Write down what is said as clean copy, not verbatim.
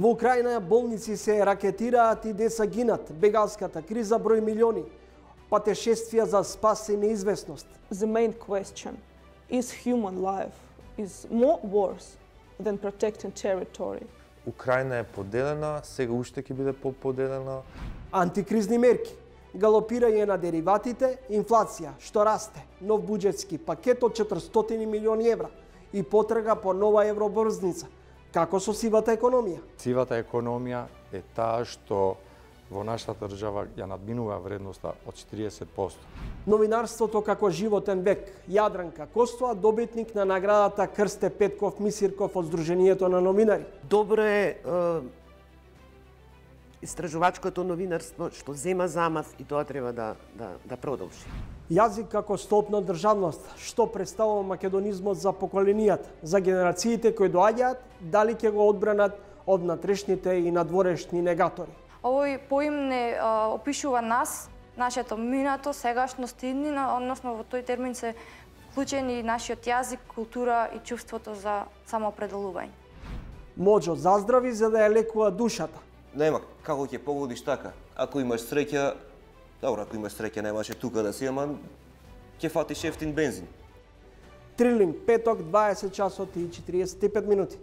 Во Украина болници се ракетираат и деца гинат. Бегалската криза брои милиони. Патешествија за спас и неизвестност. The main question is human life is more worse than protecting territory. Украина е поделена, сега уште ќе биде поделена. Антикризни мерки, галопирање на дериватите, инфлација што расте, нов буџетски пакет од 400 милиони евра и потрага по нова евробрзница. Како со сивата економија? Сивата економија е таа што во нашата држава ја надминува вредноста од 40%. Новинарството како животен век. Јадранка Костова, добитник на наградата Крсте Петков Мисирков од Сдруженијето на новинари. Добро е истражувачкото новинарство што зема замав и тоа треба да продолжи. Јазик како столб на државност, што представува македонизмот за поколенијата, за генерациите кои доаѓаат, дали ќе го одбранат од натрешните и надворешни негатори. Овој поим не опишува нас, нашето минато, сегашност и иднина, односно во тој термин се вклучени нашиот јазик, култура и чувството за самоопределување. Моџо заздрави за да ја лекува душата. Нема како ќе погодиш така. Ако имаш среќа, добро, ако имаш среќа немаше тука да си, ама ќе фатиш ефтин бензин. Трилинг, петок, 20 часот и 45 минути.